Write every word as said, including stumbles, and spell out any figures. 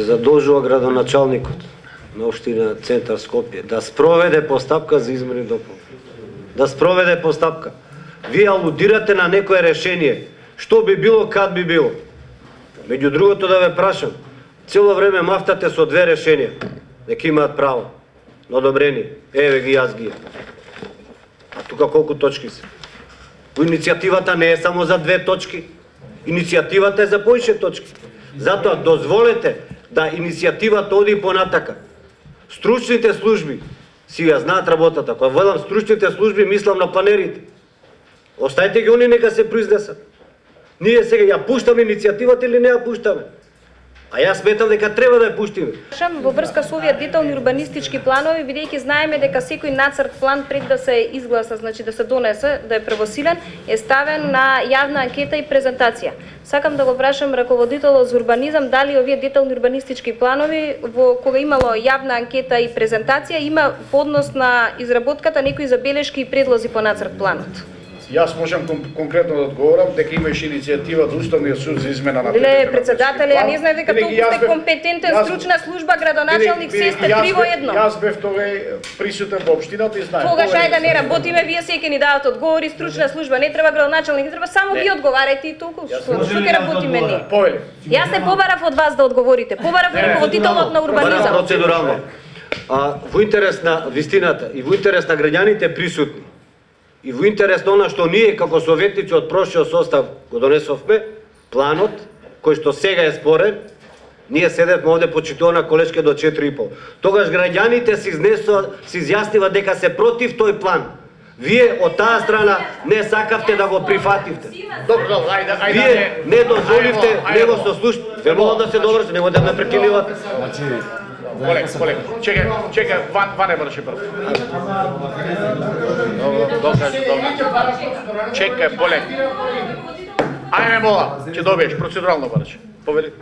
се задолжува градоначалникот на општина Центар Скопје да спроведе постапка за измени дополнение. Да спроведе постапка. Вие алудирате на некое решение. Што би било, кад би било? Меѓу другото да ве прашам, цело време мафтате со две решенија. Нека имаат право на одобрение. Еве ги, јас ги. А тука колку точки се? Иницијативата не е само за две точки. Иницијативата е за поише точки. Затоа дозволете да иницијативата оди понатака. Стручните служби си ја знаат работата. Кога велам стручните служби, мислам на планерите. Оставете ги они нека се произнесат. Ние сега ја пуштаме иницијативата или не ја пуштаме? А јас сметам дека треба да ја пуштиме. Во врска со овие детални урбанистички планови, бидејќи знаеме дека секој нацрт план пред да се изгласа, значи да се донесе, да е превосилен, е ставен на јавна анкета и презентација. Сакам да го прашам раководителот за урбанизам дали овие детални урбанистички планови во кога имало јавна анкета и презентација има поднос на изработката некои забелешки и предлози по нацрт планот. Јас можам кон, конкретно да одговорам дека имаше иницијатива од Уставниот суд за измена на Леле, председателе, ја не знаев дека толку сте компетентен, јас, стручна служба, градоначалник, се сте три во едно. Јас бев тогаш присутен во општината и знаев. Тогаш ајде да не работиме, вие секој ни давате одговори, стручна служба, не треба градоначалник, не треба, само ви одговарајте и толку. Што ќе работиме ние? Повеле. Јас не побарав од вас да одговорите. Побарав од раководителот на урбанизам. Процедурално. А во интерес на вистината и во интерес на граѓаните присутни и во интерес на она што ние како советници од прошлиот состав го донесовме, планот кој што сега е спорен, ние седевме овде почитувана колешке до четири и пол. Тогаш граѓаните се изнесува, се изјаснива дека се против тој план. Вие од таа страна не сакавте да го прифативте. Добро, ајде, ајде. Вие не дозволивте него со слушате. Ве молам да се довршите, него да ме прекинувате. Полек, полек. Чекај, чекај, ван, ван е врши прв. Добро, докажи, добро. Чекај, полек. Ајме мола, ќе добиеш процедурално врши. Повели.